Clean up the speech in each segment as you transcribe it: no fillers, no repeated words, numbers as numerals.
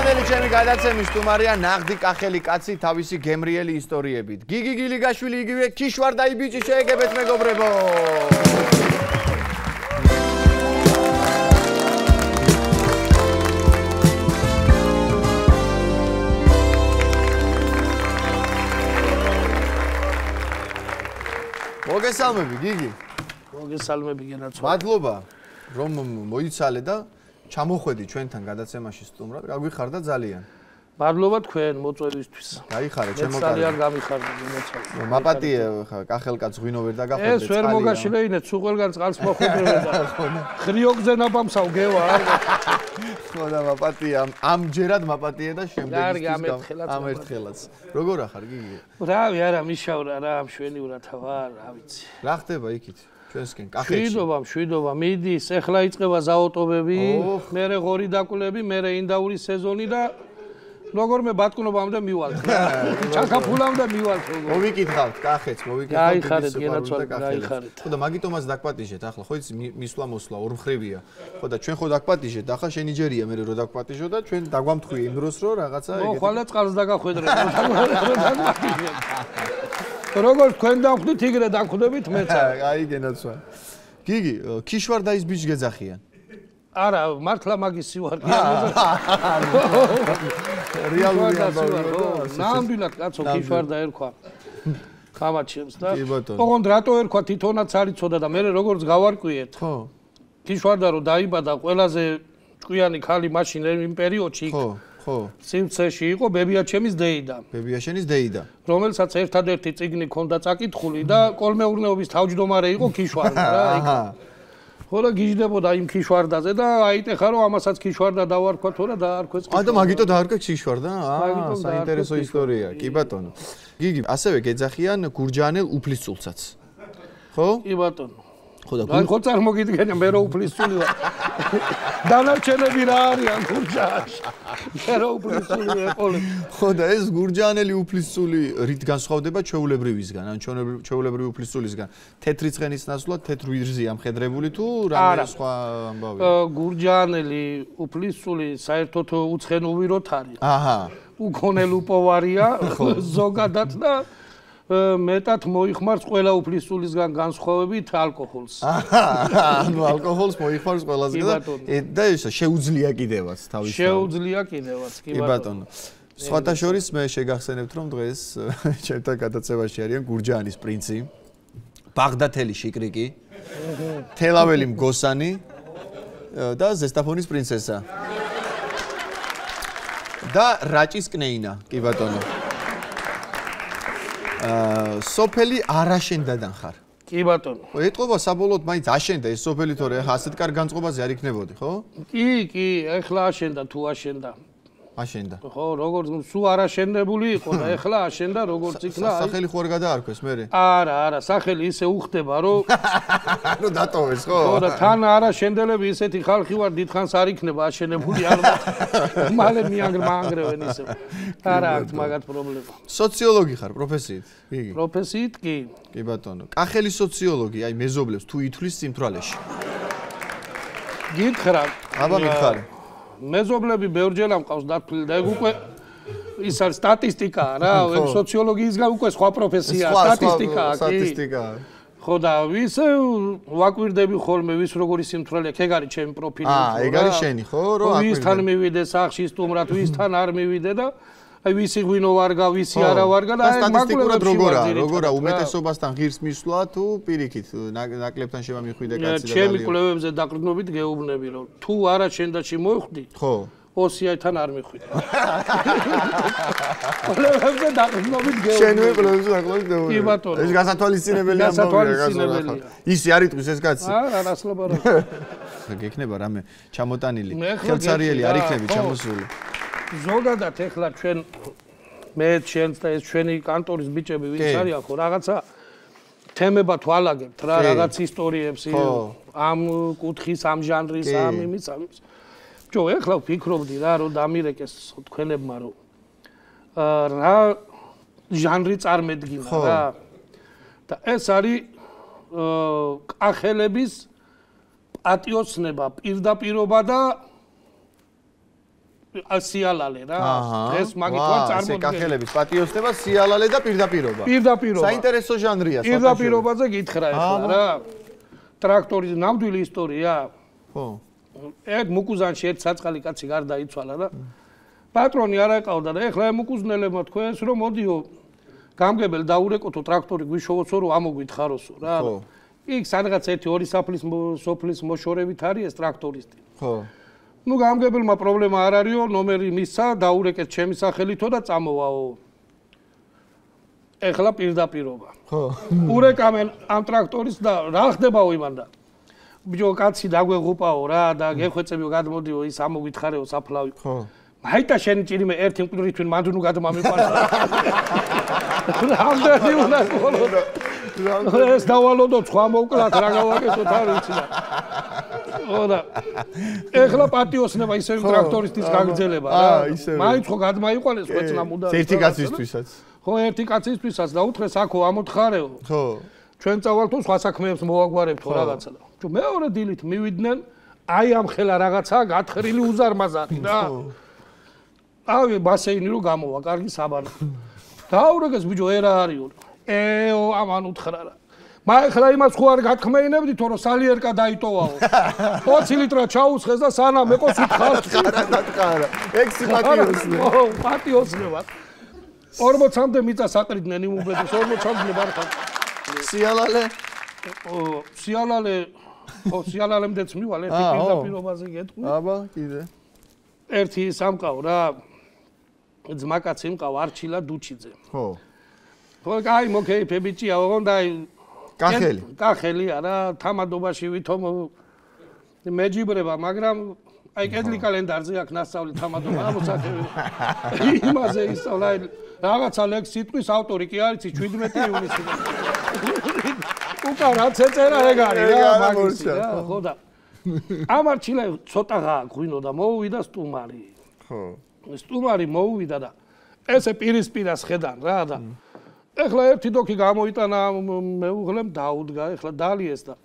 შემდგომელი ჩემი გადაცემის სტუმარია ნაღდი კახელი კაცი თავისი გემრიელი ისტორიებით. გიგი გილიგაშვილი იგივე ქიშვარდაი ბიჭი შეეგებეთ მეგობრებო. მოგესალმები გიგი. მოგესალმები გენაცვალე. მადლობა რომ მოიცალე და ჩამოხვედი ჩვენთან გადაცემაში სტუმრად. გაგვიხარდა ძალიან. მადლობა თქვენ მოწვევისთვის. გაიხარე, ჩემო კარგი. ძალიან გამიხარდა გენაცვალე. მაპატიე ხა კახელკაც ღვინო ვერ დაგახვედე. ეს ვერ მოგაშლეინეთ, სულ ყველგან წყალს მოხვედრე და ხრიოგზე ნაბამსავ გევა არ. ხო და მაპატია ამჯერად მაპატიე და შემდეგისთვის ამერთხელაც. როგორ ახარ გიგი? რავი არა მიშავრა რა მშვენივრად ვარ, რა ვიცი. რა ხდება იქით? ჩვენსკენ კახეთში. მშვიდობა, მიდის, ეხლა იწყება ზაოტობები, მერე ღორი დაკვლები, მერე ინდაური სეზონი და როგორმე ბატკნობამდე მივალთ რა. ჩაკაფულამდე მივალთ როგორ. მოვიკითხავთ კახეთს, მოვიკითხავთ. გაიხარეთ გენაცვალე, გაიხარეთ. ხო და მაგიტომაც დაგპატიჟეთ ახლა, ხო იცი მისვლა მოსვლა ორმხრივია. ხო და ჩვენ ხო დაგპატიჟეთ, ახლა შენი ჯერია მე რო დაგპატიჟო და ჩვენ დაგვამთხვი იმ დროს რო რაღაცა ეგეთი. ხო, ხვალე წყალს დაგახვედრე. როგორ თქვენ დავხვდით იგრე დაგხვდებით მეც. აი გენაცვალე. გიგი, ქიშვარდაის ბიჭ გეძახიან. არა, მართლა მაგის სივარ. რეალური ნამდვილად კაცო ქიშვარდა ერქვა. ხამაჩემს და ოღონდ რატო ერქვა თვითონაც არ იცოდა და მე როგორც გავარკვიეთ. ხო. ქიშვარდა რო დაიბადა ყველაზე ჭკვიანი ქალი მაშინ იმ პერიოდში. ხო. ხო. სიმცეში იყო ბებიაჩემის დეიდა. ბებიაშენის დეიდა. რომელსაც ერთადერთი წიგნი ჰქონდა წაკითხული და კოლმეურნეობის თავმჯდომარე იყო ქიშვარდა რა იქ. ხო და გიждდებოდა იმ ქიშვარდაზე და აიტეხა რომ ამასაც ქიშვარდა დავარქვა თორა დაარქვეს ქიშვარდა. და მაგიტო დაარქვეს ქიშვარდა? საინტერესო ისტორია. კი ბატონო. გიგი, ასევე გეძახიან გურჯაანელ უფლისწულსაც. ხო? კი ბატონო. ხო და ხო წარმოგიდგენია მე რო უფლისწული ვარ. დანარჩენები რა არიან გურჯაანში? მე რო უფლისწული ეყოლე. ხო და ეს გურჯაანელი უფლისწული რით განსხვავდება ჩვეულებრივისგან? ან ჩვეულებრივი უფლისწულისგან? თეთრი ცხენის ნაცვლად თეთრ ვირზია მხედრებული თუ რამე სხვა ამბავია? გურჯაანელი უფლისწული საერთოდ უცხენუვიროთ არის. აჰა. უკონელუპოვარია ზოგადად და მეტად მოიხმარს ყველა უფლისწულისგან განსხვავებით ალკოჰოლს. ანუ ალკოჰოლს მოიხმარს ყველასგან და შეუძლია კიდევაც თავის. შეუძლია კიდევაც, კი ბატონო. სხვათა შორის მე შეგახსენებთ რომ დღეს ჩემთან გადაცემაში არიან გურჯაანის პრინცი, ბაღდათელი შიკრიკი, თელაველი მგოსანი და ზესტაფონის პრინცესა. და რაჭის კნეინა, კი ბატონო. სოფელი არაშენდადან ხარ. კი ბატონო. ეტყობა საბოლოოდ მაინც აშენდა ეს სოფელი თორე ახლა ასეთ კარგ განწყობაზე არ იქნებოდი, ხო? კი, ეხლა აშენდა თუ აშენდა. აშენდა. ხო, როგორც სულ არაშენებული იყო და ეხლა აშენდა როგორც იქნა. სახელი ხო არ გადაარქვეს მერე? არა, სახელი ისე უხდება რომ რომ დატოვეს, ხო? ხო და თან არაშენდელები ისეთი ხალხი ვარ დიდხანს არ იქნება აშენებული ალბათ. მალე მიანგრევენ ისე. არა აქვს მაგათ პრობლემა. სოციოლოგი ხარ პროფესიით? გიგი. პროფესიით კი. კი ბატონო. კახელი სოციოლოგი, აი მეზობლებს თუ ითვლის სიმთვრალეში. გითხრა. აბა მითხარი. მეზობლები ბევრჯერ ამყავს დათვლილი და ეგ უკვე ის არის სტატისტიკაა რა, ეგ სოციოლოგიისგან უკვე სხვა პროფესიაა, სტატისტიკაა, კი. სტატისტიკაა. ხო და ვის ვაკვირდები ხოლმე ვის როგორი სიმთვრალეა, ეგ არის ჩემი პროფილი. ეგ არის შენი, ხო, რომ აკვირდე. ვისთან მივიდე სახში სტუმრად, ვისთან არ მივიდე და აი ვისი ღვინო ვარგა, ვისი არა ვარგა და აი სტატისტიკურად როგორა უმეტესობასთან ღირს მისვლა თუ პირიქით ნაკლებთან შემამიხვიდე კაცი და ჩემი კვლევებზე დაყრდნობით გეუბნები რომ თუ არა შენდაში მოხვდი ხო ოსიათან არ მიხვიდე კვლევებზე დაყრდნობით გეუბნები შენვე კვლევებზე დაყრდნობით გეუბნები კი ბატონო ეს გასათვალისწინებელია ისი არ იტყვის ეს კაცი არა რასლობა რა გექნება რამე ჩამოტანილი ხელცარიელი არ იქნები ჩამოსული ზოგადად ეხლა ჩვენ მე ჩვენს და ეს ჩვენი კანტორის ბიჭები ვინც არიან ხო რაღაცა თემებად ვალაგებთ რა რაღაც ისტორიებს ამ კუთხის ამ ჟანრის ამ იმის ჯო ეხლა ვფიქრობდი რა რომ დამირეკეს თქვენებმა რომ რა ჟანრი წარმედგინა რა და ეს არის კახელების პატიოცნება პირდაპირობა და სიალალე რა. დღეს მაგით ვარ წარმოდგენილი. კახელების პატიოსნება, სიალალე და პირდაპირობა. პირდაპირობა. საინტერესო ჟანრია. პირდაპირობაზე გითხრა ახლა რა. ტრაქტორის ნამდვილი ისტორია. ხო. ერთ მუკუზანში ერთ საწყალი კაცი გარდაიცვალა და პატრონი არ აყავდა და ეხლა მუკუზნელებმა თქვენს რომ მოდიო გამგებელ დაურეკოთო ტრაქტორი გვიშოვოцо რომ ამოგვითხაროსო რა. იქ სადღაც 1-2 სოფლის მოშორებით არის ეს ტრაქტორისტი. ხო. ნუ გამგებელმა პრობლემა არ არისო, ნომერი მისცა, დაურეკეთ ჩემი სახელითო და წამოვაო. ეხლა პირდაპირობა. ხო. ურეკამენ ამ ტრაქტორის და რა ხდებაო იმან და ბიჭო კაცი დაგვეღუპაო რა და გეხვეწებიო გადმოდიო ის ამოგვითხარეო საფლავი. ხო. მაიტა შენი ჭირიმე ერთი მკვდრი თვინ მანდუნუ გადმამიყვანს. რამდენი უნდა ყოლო. ეს დავალოდო სხვა მოვკლათ რა გავაკეთოთ არ ვიცი და. ოდა ეხლა პატიოსნება ისევ ტრაქტორისტის გაგრძელება რა. მაინც ხო გადმაიყვანეს ხვეწნა მუდამ. ერთი კაცისთვისაც. ხო ერთი კაცისთვისაც და უთხრეს აქო ამოთხარეო. ხო. ჩვენ წავალთო სხვა საქმეებს მოვაგვარებთო რაღაცა და. თუ მეორე დილით მივიდნენ აი ამ ხელა რაღაცა გათხრილი უზარმაზარი რა. ავი ბასეინი რო გამოვა, კარგი საბანო. დაურეკეს ბიჭო ერა არისო. ეო ამან უთხრა რა. მაეხლა იმას ხო არ გათქმეინებდითო რომ სალიერკა დაიტოვაო. 20 ლიტრა ჩაუსხეს და სანამ ეყოს უთხარ. ხარა. ეგ სიპატიოსნე. ო, პატიოსნება. 40-მდე მიწა საყრიდნენ იმ უბედს 40-მდე ბარხან. სიალალე. ო, სიალალემდეც მივალ ერთი პირდაპირობაზე გეტყვი. აბა, კიდე. ერთი სამყაო რა. ძმაკაცი მყავ არჩილა დუჩიძე. ხო. ხო, კაი მოკეიფე ბიჭია, ოღონდ აი კახელი. კახელია რა, თამადობაში ვითომ მეჯიბრება, მაგრამ აი კედლი კალენდარზე აქ ნასწავლი თამადობა ამოსახები. იმაზე ისწავლა რაღაცა ლექს სიტყვის ავტორი კი არის 17 ივნისი. უკან რაც ეწერა ეგ არის რა, მაგისი რა, ხო და ამარჩილა ცოტა გააღვინო და მოუვიდა სტუმარი. ხო. სტუმარი მოუვიდა და ესე პირისპირას ხედან რა და ეხლა ერთი დოქი გამოიტანა მეუღლემ დაუდგა ეხლა დალიეს და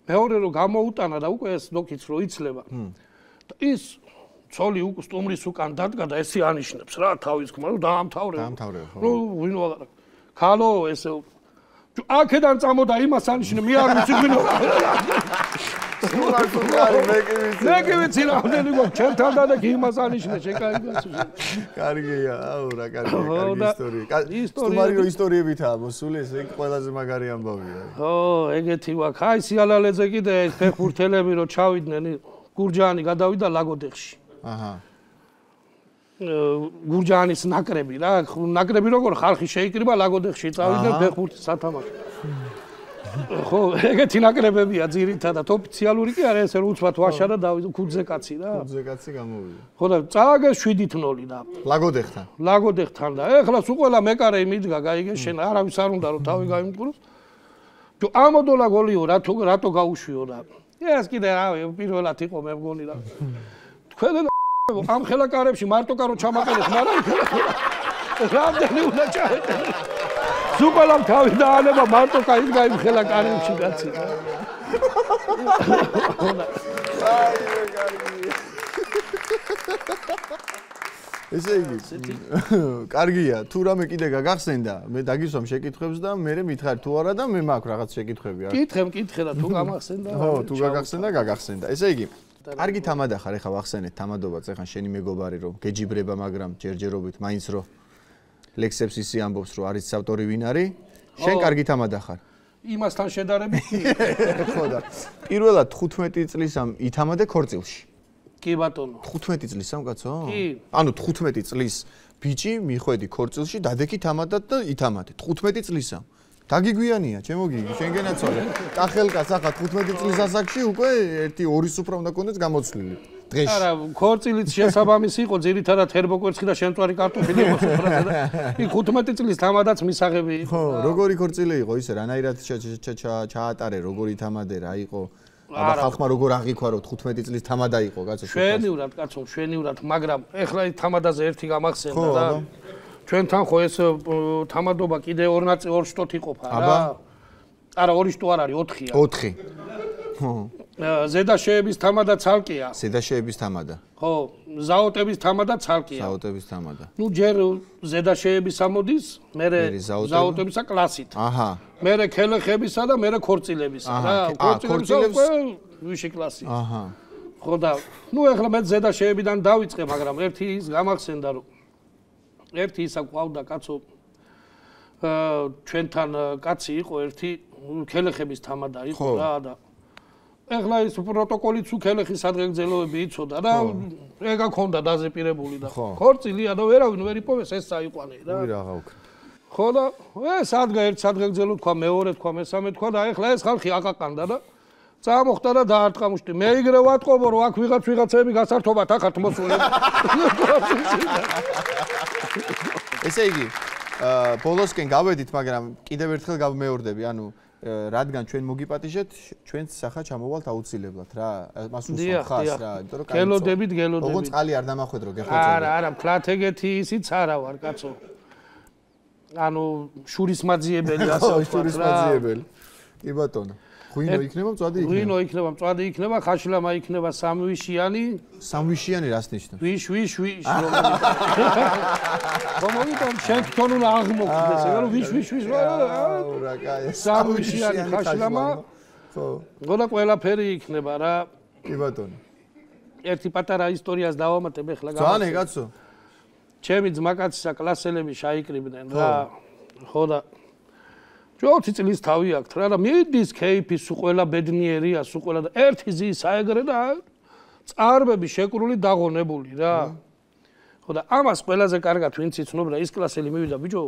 მეორე რო გამოუტანა და უკვე ეს დოქიც რო იცლება და ის ცოლი უკვე სტუმრის უკან დადგა და ესე ანიშნებს რა თავის ხმა რომ დაამთავრე ხო რო ვინო აღარა ქალო ესე აქედან წამოდა იმას ანიშნე მე არ ვიცი ვინო მე კი ვიცი რამდენი გქონდა ჩემთან და იმას ანიშნე შეკაიგას კარგია აუ რა კარგი ისტორია სტუმარი რო ისტორიებითაა მოსული ეს ეგ ყველაზე მაგარი ამბავია ხო ეგეთი ვაკ აი სიალალეზე კიდე ფეხბურთელები რო ჩავიდნენ გურჯაანი გადავიდა ლაგოდეხში აჰა გურჯაანის ნაკრები რა ნაკრები როგორ ხალხი შეიკრიბა ლაგოდეხში წავიდნენ ფეხბურთის სათამაშო ხო ეგეთი ნაკრებებია ძირითადად ოფიციალური კი არა ესე უცბად ვაშა და დავიდ ქუძე კაცი რა ქუძე კაცი გამოვიდა ხო და წააგეს 7-0 და ლაგოდეხთან და ეხლა სულ ყველა მეკარე მიდგა გაიგე შენ არავის არ უნდა რომ თავი გაიმკვიროს თუ ამოდოლა გოლიო რატო გაუშვიო და ეს კიდე რავი პირველად იყო მე მგონი და თქვენ ამ ხელაკარებში მარტო კარო ჩამაყენეს მაგრამ რამდენი უნდა ჩაეტანო სუპალამ თავი დაანება მარტო კაი გაიმ ხელაკარებში კაცი აი კარგი ესე იგი კარგია თუ რამე კიდე გაგახსენდა მე დაგისვამ შეკითხვებს და მე მითხარ თუ არა და მე მაქვს რაღაც შეკითხვები არ კითხე და თუ გამახსენდა ხო თუ გაგახსენდა ესე იგი კარგი თამადა ხარ ეხა ვახსენეთ თამადობაც ეხა შენი მეგობარი რომ გეჯიბრება მაგრამ ჯერჯერობით მაინც რომ ლექსებს ისი ამბობს რომ არის ავტორი ვინ არის შენ კარგი თამადა ხარ იმასთან შედარებით ხო და პირველად 15 წლისამ ითამადე ქორწილში კი ბატონო 15 წლისამ კაცო კი ანუ 15 წლის ბიჭი მიხვედი ქორწილში დადექი თამადად და ითამადე 15 წლისამ დაგიგვიანია ჩემო გიგი შენგენაცვალე კახელკას ახლა 15 წლის ასაკში უკვე 1-2 სუფრა უნდა კონდეს გამოცვლილი დღეში არა ქორწილიც შესაბამისი იყო ძირითადად ჰერბოკვერცხი და შემწვარი კარტოფილი იყო სუფრაზე და იქ 15 წლის თამადაც მისაღები იყო ხო როგორი ქორწილი იყო ისე რანაირად ჩაატარე როგორი თამადე რა იყო აბა ხალხმა როგორ აღიქვა რომ 15 წლის თამადა იყო კაცო შვენივრად კაცო შვენივრად მაგრამ ეხლა ის თამადაზე ერთი გამახსენდა და ჩვენთან ხო ეს თამადობა კიდე ორ შტოთ იყოფა რა. არა, ორი შტო არ არის, 4-ია. 4. ზედაშეების თამა და ცალკეა. ზედაშეების თამადა. ხო, ზაოტების თამა და ცალკეა. ზაოტების თამადა. ნუ ჯერ ზედაშეების ამოდის, მერე ზაოტებისა კლასით. აჰა. მერე ქელეხებისა და მერე ქორწილებისა რა. ქორწილების ვიში კლასი. აჰა. ხო და ნუ ეხლა მე ზედაშეებიდან დავიწყე, მაგრამ ერთი ის გამახსენდა რომ ერთი ისა ყავდა კაცო ჩვენთან კაცი იყო ერთი ქელეხების თამადა იყო რა და ეხლა ის პროტოკოლიც უქელეხის ადგილგზელოები იცოდა რა ეგა ქონდა დაზეპირებული და ქორწილია და ვერავინ ვერ იპოვეს ეს საიყვანე რა ვირ აღა უკვე ხო და ეს ადგა ერთ ადგილგზელო თქვა მეორე თქვა მესამე თქვა და ეხლა ეს ხალხი აკაკანდა და წამოხდა და დაარტყა მუშტი მე იგრე ვატყობო რომ აქ ვიღაცები გასართობათ ახართ მოსულები ესე იგი ბოლოსკენ გავედით მაგრამ კიდევ ერთხელ გავმეორდები ანუ რადგან ჩვენ მოგიპატიჟეთ ჩვენც სახა ჩამოვალთ აუცილებლად რა მას უსვამთ ხას რა იმიტომ რომ გელოდებით ოღონდ წყალი არ დამახვედრო გეხოცებათ არა ფლათ ეგეთი ისიც არა ვარ კაცო ანუ შურისმაძიებელი ასე ვთქვათ რა შურისმაძიებელი კი ბატონო ღვინო იქნება მწვადი იქნება ღვინო იქნება მწვადი იქნება ხაშლამა იქნება სამვიშიანი რას ნიშნავს ვიშ მომიტან შენ თვითონ უნდა აღმოხდეს ეგ რომ ვიშ რა კაი სამვიშიანი ხაშლამა ხო გონა ყველაფერი იქნება რა კი ბატონო ერთი პატარა ისტორიას დავამატებ ეხლა ძვანე კაცო ჩემი ძმაკაცისა კლასელები შაიკრიბდნენ რა ხო და 20 წლის თავი აქვს რა და მიდის кейფი სულ ყველა ბედნიერია სულ ყველა და ერთი ზის აეგრე და წარბები შეკრული დაღონებული რა ხო და ამას ყველაზე კარგად ვინც იცნობ რა ის კლასელი მივიდა ბიჭო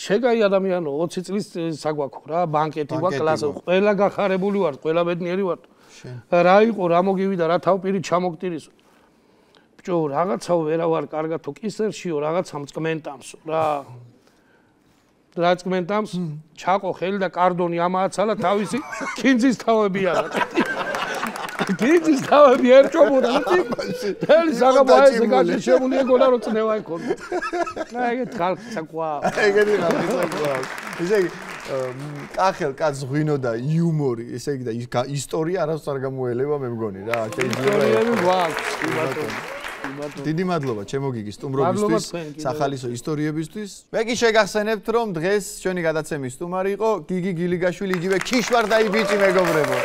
შეგაი ადამიანო 20 წლის საგვაქო რა ბანკეტი ვარ კლასი ყველა გახარებული ვარ ყველა ბედნიერი ვარ რა იყო რა მოგივიდა რა თავპირი ჩამოგტირისო ბიჭო რაღაცაო ვერა ვარ კარგად თუ კისერშიო რაღაცა მწკმენტამსო რა რაჭმენტამს ჩაყო ხელი და კარდონი ამააცალა თავისი კინძის თავები არა კინძის თავები ერჩობოდა თელი საგაბაეზე გაჩემული ეგონა რომ წნევა იქონდა და ეგეთ ხალხი საკვა ეგეთი ხალხი საკვა ესე იგი კახელ კაც ღვინო და იუმორი ესე იგი და ისტორია არასდროს არ გამოელება მე მგონი რა ისტორიები გვაქვს კი ბატონო დიდი მადლობა ჩემო გიგი სტუმრობისთვის, სახალისო ისტორიებისთვის. მე კი შეგახსენებთ რომ დღეს ჩვენი გადაცემის სტუმარი იყო გიგი გილიგაშვილი, იგივე ქიშვარდაი ბიჭი მეგობრებო.